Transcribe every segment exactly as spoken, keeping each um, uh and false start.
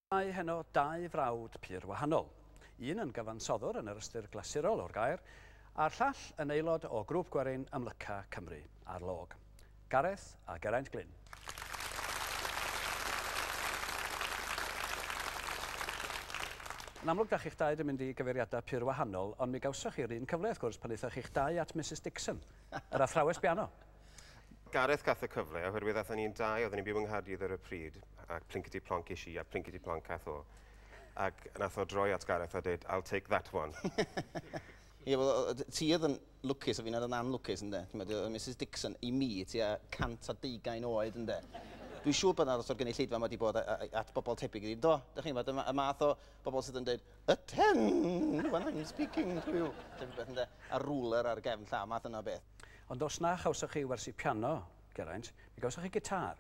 Mae heno dau frawd pur wahanol. Un yn gyfansoddwr yn yr ystyr glasurol o'r gair, a'r llall yn aelod o grŵp gwerin amlyca Cymru ar log. Gareth a Geraint Glyn. Yn amlwg, da chi'ch dau wedi mynd i gyfeiriadau pur wahanol, ond mi gawsoch chi'r un cyfle, wrth gwrs, pan aethoch chi'ch dau at Misus Dixon, yr athrawes biano. Gareth gath y cyfle, oherwydd aethon ni'n dau, oedden ni'n byw yng Nghaerdydd ar y pryd, ac plinkety plonk is i, a plinkety plonk cath o. Ac nath o droi at Gareth a dweud, "I'll take that one." Ie, wel, ti oedd yn lwcus a fi'n oedd yn anlwcus, ynde? Ti'n meddwl, Missus Dixon, i mi, tua cant a deugain oed, ynde? Dwi'n siŵr bod yna lot o'r gynulleidfa yma wedi bod at bobl tebyg iddi. Do, dych chi'n gwybod, y math o bobl sydd yn dweud, "Attend when I'm speaking to you." Tebyg beth, ynde? A ruler ar gefn llaw, math yna o beth. Ond os na chawsoch chi wersi piano, Geraint, mi gawsoch chi gitar.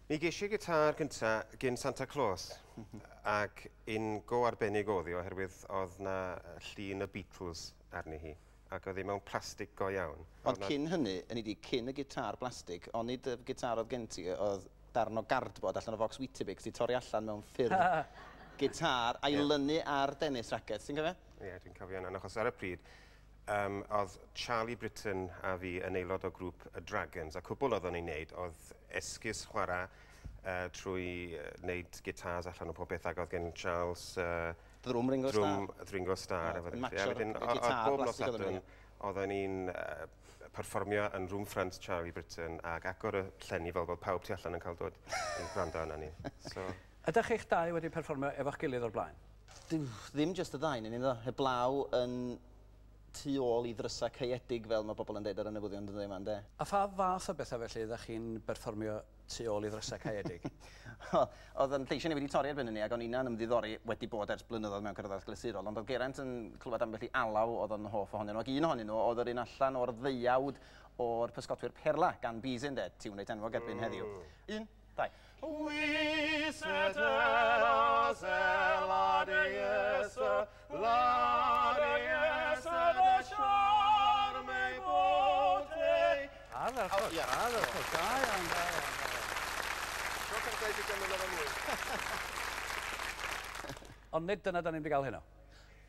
Mi ges i gitar gynta gyn Santa Claus, ac un go arbennig oedd hi, oherwydd oedd na llun y Beatles arni hi, ac oedd hi mewn plastig go iawn. Ond cyn hynny, yn i di, cyn y gitar blastig, onid y gitar oedd gen ti, oedd darn o gardbord allan o focs Weetabix 'di torri allan mewn ffurf gitar a'i yeah. lynu ar tennis racket, ti'n cofio? Ie, yeah, dwi'n cofio hynna, achos ar y pryd, um, oedd Charlie Britton a fi yn aelod o grŵp y Dragons, a cwbl oedden ni'n neud oedd esgus chwarae uh, trwy wneud gitars allan o pob beth, ac oedd gen Charles uh, drwm Ringo Starr. Drwm Ringo Starr. Oh, matcho'r gitar bob nos Sadwrn, oedden ni'n uh, perfformio yn room front Charlie Britton ac agor y llenni fel bod pawb tu allan yn cael dod i gwrando arna ni. So... Ydych chi'ch dau wedi perfformio efo'ch gilydd o'r blaen? Dim, ddim just y ddau, ni ddo. Heblaw yn tu ôl i ddrysau caeedig, fel mae bobl yn deud ar y newyddion dyddiau yma, ynde? A pha fath o bethau felly ydych chi'n berfformio tu ôl i ddrysau caeedig? Oedd yn lleisiau ni wedi torri erbyn hynny, ac o'n inna'n ymddiddori wedi bod ers blynyddoedd mewn cerddoriaeth glasurol, ond oedd Geraint yn clywed ambell i alaw oedd yn hoff ohonyn nhw, ac un ohonyn nhw oedd yr un allan o'r ddeuawd o'r Pysgotwyr Perla gan Bizet, ynde, tiwn reit enwog erbyn heddiw. Un, dau. Oui, c'était la déesse, la déesse de charme et beauté. Ardderchog, ardderchog, da iawn, da iawn, da iawn. Tro cyntaf i gymryd efo mwy. Ond nid dyna da ni'n mynd i gael heno.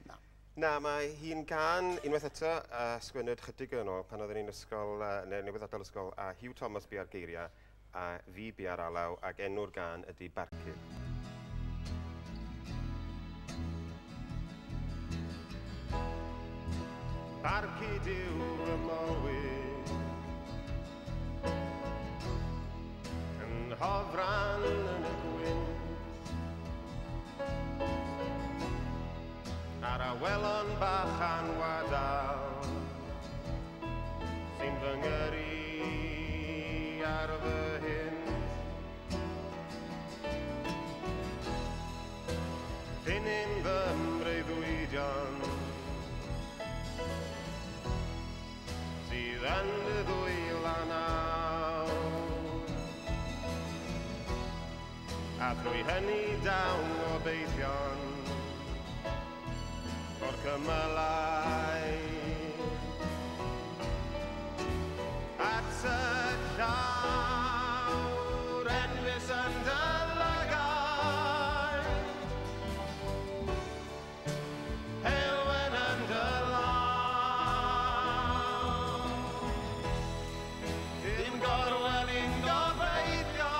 Na. Na, mae hi'n gan unwaith eto, uh, sgwennwyd chydig yn ôl pan oedden ni'n ysgol, uh, neu newydd adael ysgol, a Hugh Thomas bu ar geiriau, a fi bu ar alaw, ac enw'r gan ydy Barcud. Barcud yw fy mywyd, yn hofran yn y gwynt, a'r awelon bach anwadal sy'n fy ngyrru ar fy hynt. Llinyn fy mreuddwydion sydd yn dy ddwylo nawr, a thrwy hynny dawn gobeithion o'r cymylau at y llawr enfys yn dy lygaid, heulwen yn dy law, dim gorwel i'n gobeithio,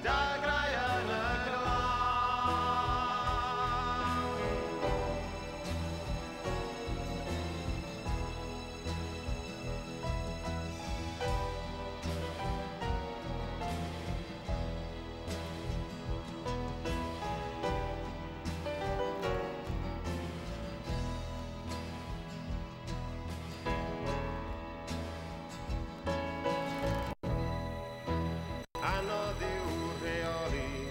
dagrau yn y glaw. Anodd yw rheoli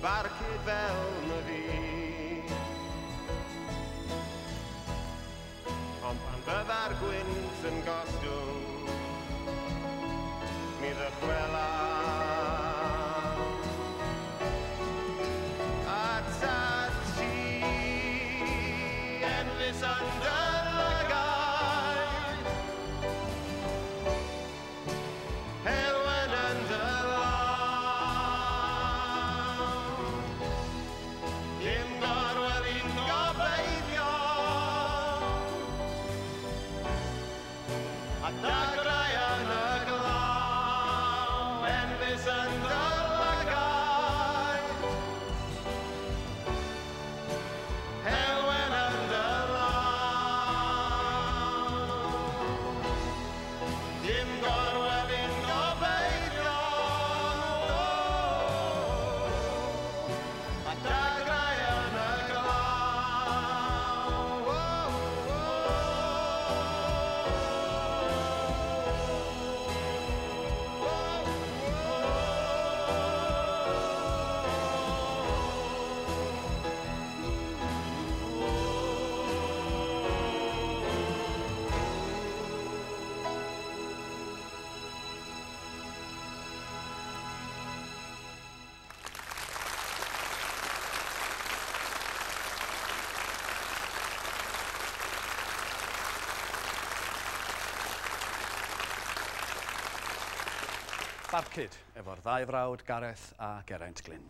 barcud fel na fi, ond pan fydda'r gwynt yn gostwng, mi ddychwela atat ti, enfys yn dy lygaid. A dagrau yn y glaw, enfys yn dy lygaid. Heulwen yn dy law. Dim gorwedd yn gobeithio, a dagrau yn y glaw. Barcud efo'r ddau frawd Gareth a Geraint Glyn.